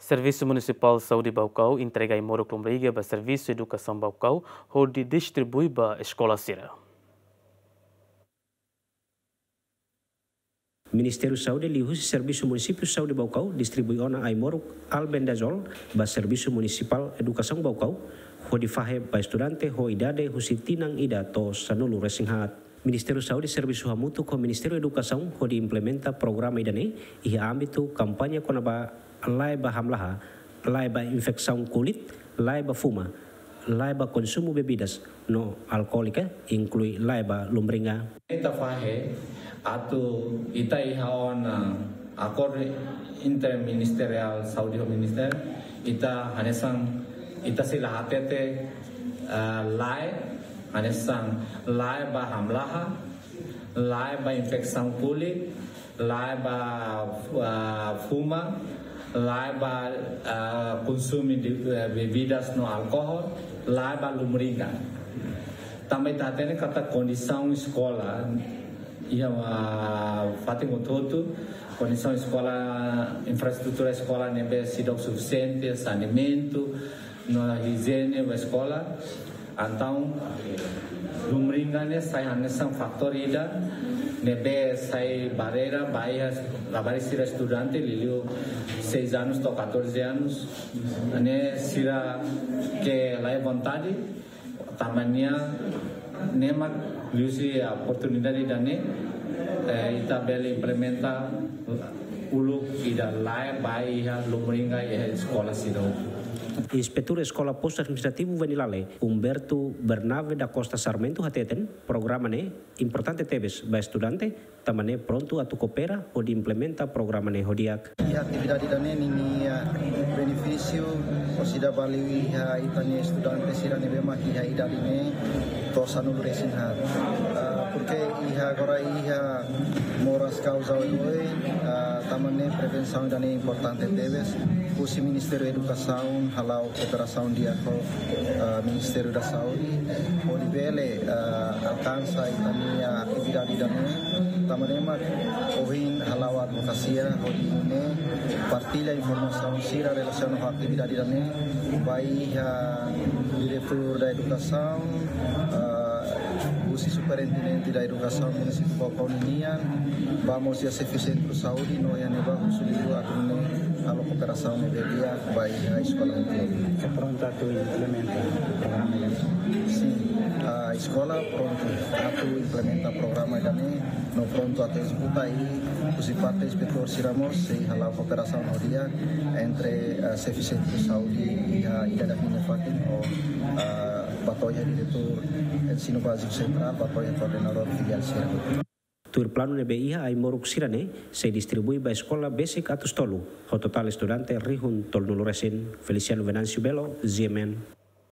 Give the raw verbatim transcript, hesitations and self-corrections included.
Servisu Munisipál Saúde Baucau entrega ai-moruk lombriga ba Servisu Edukasaun Baucau hodi distribui ba eskola sira. Ministériu Saúde liuhusi Servisu Munisípiu Saúde Baucau distribui ona ai-moruk albendazol ba Servisu Munisipál Edukasaun Baucau hodi fahe ba estudante ho idade husi tinan ida to'o sanulu resin haat. Ministériu Saúde servisu hamutuk ho Ministériu Edukasaun hodi implementa programa ida-ne'e iha ámbitu kampaña kona-ba lae ba hamlaha, lae ba infesaun kulit, lae ba fuma, lae ba konsumu bebidas no alkoólika, inklui lae ba lombriga. Ita fahe atu ita iha ona akordu interministeriál saúde ho ministériu, ita hanesan ita sei la hatete, ah, lae, hanesan lae ba hamlaha, lae ba infesaun kulit, lae ba, ah, fuma, lae ba, ah, konsumu de, eh, bebidas no alkohol, lae ba lombriga. Tanba ita hatene katak kondisaun eskola iha, ah, fatin hotu-hotu, kondisaun eskola, infraestrutura eskola ne'ebé seidauk sufisiente, saneamentu no ijiene ba eskola. Entaun, lombriga ne'e sai hanesan fatór ida ne'ebé sai barreira ba iha labarik sira estudante, liuliu seis anos to'o catorze anos, ne'e sira ke la iha vontade, tanba ne'e, ne'e mak liuhusi oportunidade ida-ne'e, eh, ita bele implementa uluk ida lae ba iha lombriga iha eskola sira hotu. Inspetór Eskola Postu Administrativu Venilale, Humberto Bernabe da Costa Sarmento hateten, programa ne'e importante tebes ba estudante, tanba ne'e prontu atu koopera hodi implementa programa ne'e ho di'ak. Iha atividade ida-ne'e ninia, ah, benefísiu, orsida ba liu iha ita-nia estudante sira ne'ebé mak iha idade neen to'o sanulu resin haat. Ah, porke iha agora iha moras kauza oioin, ah, tanba ne'e prevensaun ida-ne'e importante tebes. Husi Ministériu Edukasaun hala'o kooperasaun di'ak ho, ah, Ministériu da Saúde, hodi bele, ah, alkansa ita-nia atividade ida-ne'e. Tanba ne'e mak ohin hala'o advokasia hodi nune'e partilla informasaun sira relasiona ho atividade ida-ne'e ba iha Diretór da Edukasaun, ah, husi Superintendente da Edukasaun Munisípiu Baucau nian, ba mós iha xefe sentru saúde no iha ne'ebá husu liu atu nune'e halo kooperasaun ne'ebé di'ak ba iha eskola hotu. Ita prontu atu implementa programa ida-ne'e? Sin, ah, eskola prontu atu implementa programa ida-ne'e, no prontu atu ezekuta i husi parte inspetór sira mós sei hala'o kooperasaun ho di'ak entre, ah, xefe sentru saúde iha ida-idak nia fatin ho, ah, ba to'o iha diretór ensinu báziku sentrál, ba to'o iha koordenadór filiál sira. Tuir planu ne'ebé iha, ai-moruk sira-ne'e sei distribui ba eskola besik atus tolu, ho totál estudante rihun tolunulu resin. Feliciano Venâncio Belo, G M N.